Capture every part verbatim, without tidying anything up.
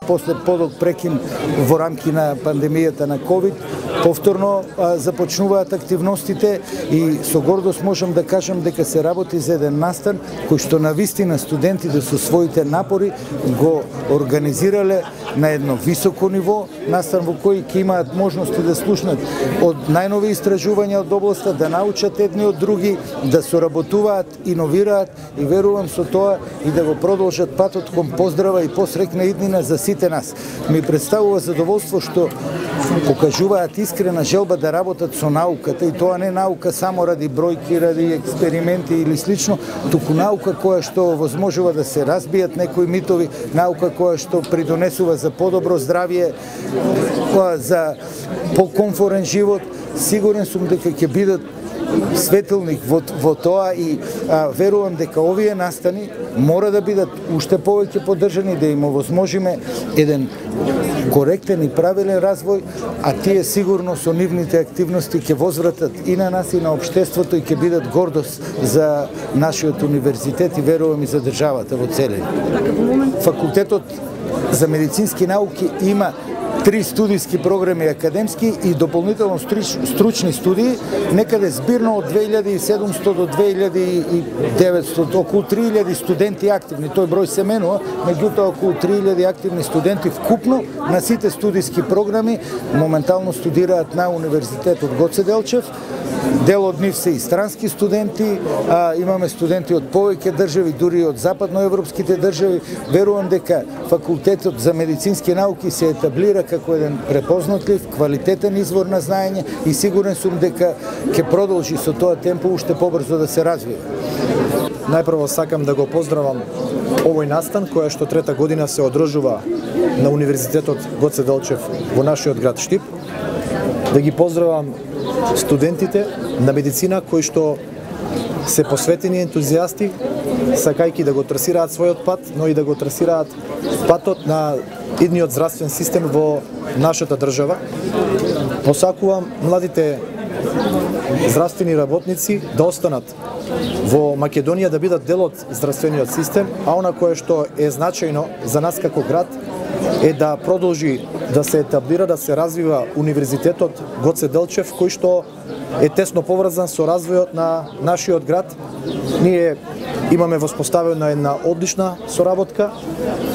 После подолг прекин во рамки на пандемијата на ковид, повторно а, започнуваат активностите и со гордост можам да кажам дека се работи за еден настан кој што навистина студентите со своите напори го организирале на едно високо ниво, настан во кој ќе имаат можности да слушнат од најнови истражувања од областа, да научат едни од други, да соработуваат, иновираат и верувам со тоа и да го продолжат патот кон поздрава и посрекна иднина за сите нас. Ми представува задоволство што покажуваат искрена желба да работат со науката и тоа не наука само ради бројки, ради експерименти или слично, туку наука која што возможува да се разбијат некои митови, наука која што придонесува за подобро здравје, за покомфорен живот. Сигурен сум дека ќе бидат светилник во, во тоа и а, верувам дека овие настани мора да бидат уште повеќе поддржани, да им овозможиме еден коректен и правилен развој, а тие сигурно со нивните активности ќе возвратат и на нас и на општеството и ќе бидат гордост за нашиот универзитет и верувам и за државата во целина. Факултетот за медицински науки има три студиски програми академски и дополнително стручни студии, некаде збирно од две илјади и седумстотини до две илјади и деветстотини, околу три илјади студенти активни. Тој број се менува, меѓутоа околу три илјади активни студенти вкупно на сите студиски програми моментално студираат на Универзитетот Гоце Делчев. Дел од нив се и странски студенти, а, имаме студенти од повеќе држави, дури од западноевропските држави. Верувам дека факултетот за медицински науки се етаблира како еден препознатлив, квалитетен извор на знаење и сигурен сум дека ќе продолжи со тоа темпо уште побрзо да се развива. Најпрво сакам да го поздравам овој настан која што трета година се одржува на Универзитетот Гоце Делчев во нашиот град Штип. Да ги поздравам студентите на медицина кои што се посветени ентузијасти, сакајки да го трасираат својот пат, но и да го трасираат патот на идниот здравствен систем во нашата држава. Посакувам младите здравствени работници да останат во Македонија, да бидат дел од здравствениот систем, а она кое што е значајно за нас како град е да продолжи да се етаблира, да се развива Универзитетот Гоце Делчев, кој што е тесно поврзан со развојот на нашиот град. Ние имаме воспоставена една одлична соработка,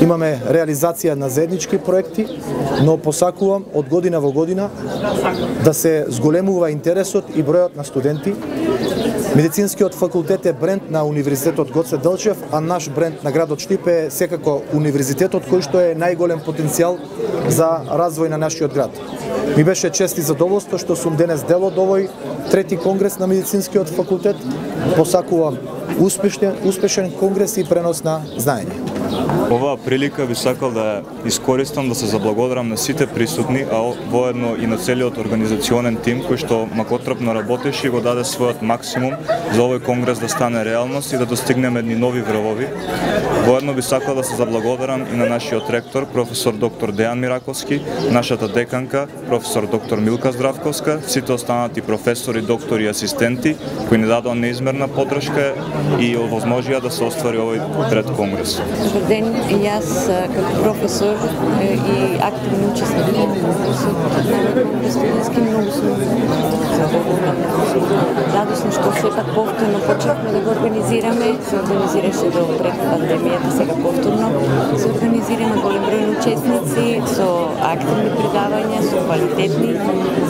имаме реализација на заеднички проекти, но посакувам од година во година да се зголемува интересот и бројот на студенти. Медицинскиот факултет е бренд на Универзитетот Гоце Делчев, а наш бренд на градот Штип е секако Универзитетот кој што е најголем потенцијал за развој на нашиот град. Ми беше чест и задоволство што сум денес дел од овој трети конгрес на медицинскиот факултет. Посакувам успешен, успешен конгрес и пренос на знаење. Оваа прилика би сакал да искористам да се заблагодарам на сите присутни, а воедно и на целиот организационен тим кој што макотрапно работеше и го даде својот максимум за овој конгрес да стане реалност и да достигнеме едни нови врвови. Воедно би сакал да се заблагодарам и на нашиот ректор, професор доктор Дејан Мираковски, нашата деканка, професор доктор Милка Здравковска, сите останати професори, доктори и асистенти кои ни дадоа неизмерна поддршка и овозможија да се оствари овој трет конгрес. Добар ден, и јас како професор и активни учесник на конкурсот на студентски многу сум радосна што сепак повторно почнавме да го организираме. Се организираше до пред пандемијата, сега повторно се организираме голем број на учесници со активни предавања, со квалитетни.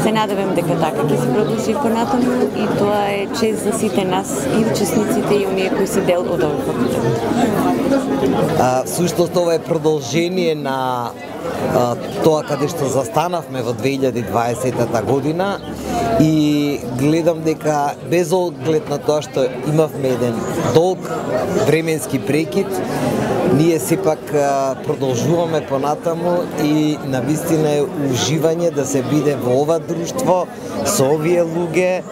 Се надевам дека така ќе се продолжи понатаму и тоа е чест за сите нас и учесниците и оние кои се дел од овој факултет. А, всушност ова е продолжение на а, тоа каде што застанавме во две илјади и дваесета година и гледам дека без оглед на тоа што имавме еден долг временски прекид, ние сепак а, продолжуваме понатаму и навистина е уживање да се биде во ова друштво со овие луѓе,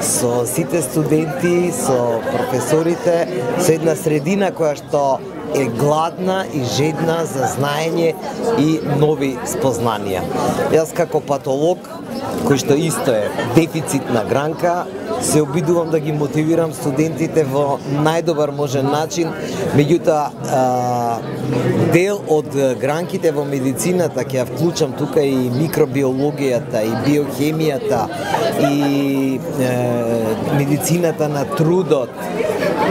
со сите студенти, со професорите, со една средина која што е гладна и жедна за знаење и нови спознанија. Јас како патолог, кој што исто е дефицитна гранка, се обидувам да ги мотивирам студентите во најдобар можен начин, меѓутоа дел од гранките во медицината ќе ја вклучам тука и микробиологијата, и биохемијата, и е, медицината на трудот,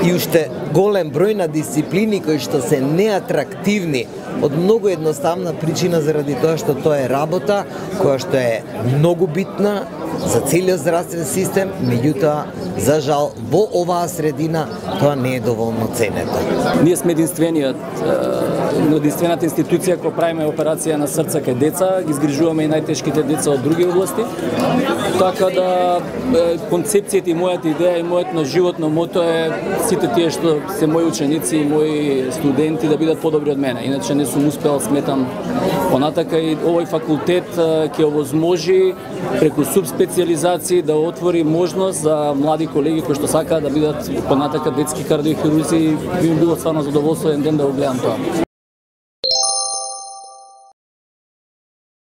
и уште голем број на дисциплини кои што се неатрактивни од многу едноставна причина заради тоа што тоа е работа која што е многу битна за целиот здравствен систем, меѓутоа за жал во оваа средина тоа не е доволно ценето. Ние сме единствениот единствената институција која правиме операција на срца кај деца, ги згрижуваме и најтешките деца од други области. Така да концепцијата и мојата идеја и мојот на животно мото е сите тие што се мои ученици и мои студенти да бидат подобри од мене. Иначе не сум успел, сметам, понатака и овој факултет ќе овозможи преку субспециализации да отвори можност за млади колеги кои што сакаат да бидат понатака детски кардиохирурзи. Би ми било стварно задоволство еден ден да го гледам тоа.